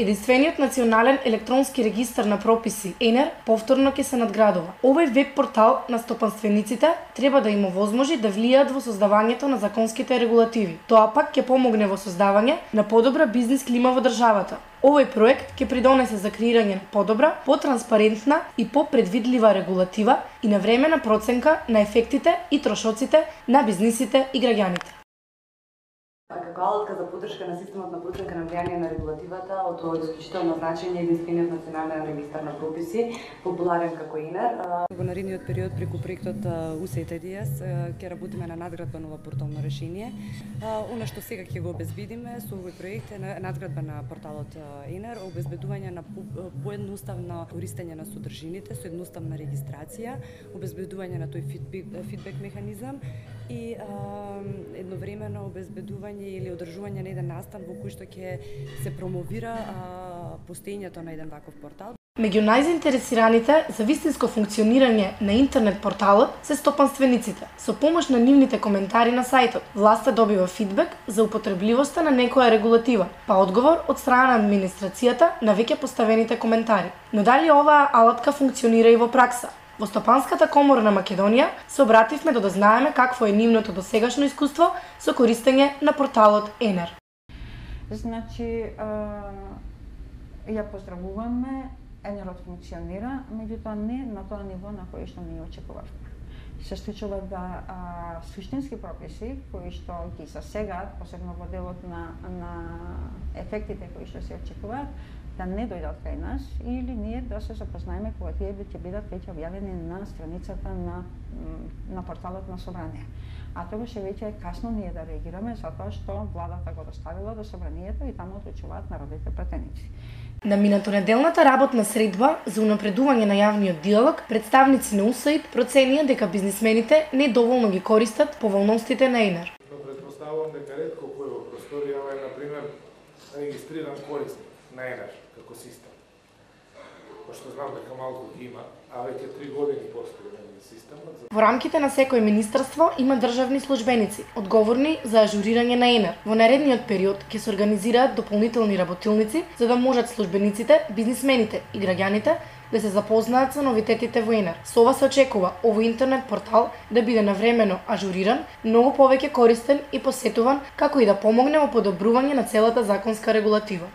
Единствениот национален електронски регистар на прописи ЕНЕР повторно ќе се надградува. Овој веб портал на стопанствениците треба да им овозможи да влијаат во создавањето на законските регулативи. Тоа пак ќе помогне во создавање на подобра бизнис клима во државата. Овој проект ќе придонесе за креирање на подобра, потранспарентна и попредвидлива регулатива и навремена проценка на ефектите и трошоците на бизнисите и граѓаните. Како алатка за поддршка на системот на проценка на влијание на регулативата, од исклучително значење единствениот национален регистар на прописи, популарен како ЕНЕР. Во наредниот период преку проектот USAID ќе работиме на надградба на ова портално решение. Она што сега ќе го обезбедиме со овој проект е надградба на порталот ЕНЕР, обезбедување на поедноставно користење на содржините со едноставна регистрација, обезбедување на тој фидбек механизам и едновремено обезбедување или одржување на еден настан во кој што ќе се промовира постоењето на еден ваков портал. Меѓу најзаинтересираните за вистинско функционирање на интернет порталот се стопанствениците. Со помош на нивните коментари на сајтот, власта добива фидбек за употребливоста на некоја регулатива, па одговор од страна на администрацијата на веќе поставените коментари. Но дали оваа алатка функционира и во пракса? Во Стопанската комора на Македонија се обративме да знаеме какво е нивното досегашно искуство со користење на порталот ЕНЕР. Значи, ја поздравуваме, ЕНЕРот функционира, меѓутоа не на тоа ниво на кој што ние очекувавме. Се случува да суштински прописи кои што ги засегаат, посебно во делот на ефектите кои што се очекуваат, да не дојдат кај нас или ние да се запознаеме кога тие ќе бидат веќе објавени на страницата на порталот на Собрание. А тогаш веќе е касно ние да реагираме затоа што владата го доставила до Собранието и таму одлучуваат народните пратеници. На минатонеделната работна средба за унапредување на јавниот диалог, представници на USAID проценија дека бизнисмените не доволно ги користат поволностите на ЕНЕР. Претпоставувам дека ретко кој во просторијава е, например, регистриран корисник на ЕНЕР како систем. Пошто знам дека малку ги има, а веќе 3 години постои системот. Во рамките на секој министерство има државни службеници, одговорни за ажурирање на ЕНЕР. Во наредниот период ќе се организираат дополнителни работилници за да можат службениците, бизнисмените и граѓаните да се запознаат со новитетите во ЕНЕР. Со ова се очекува овој интернет портал да биде навремено ажуриран, многу повеќе користен и посетуван, како и да помогне во подобрување на целата законска регулатива.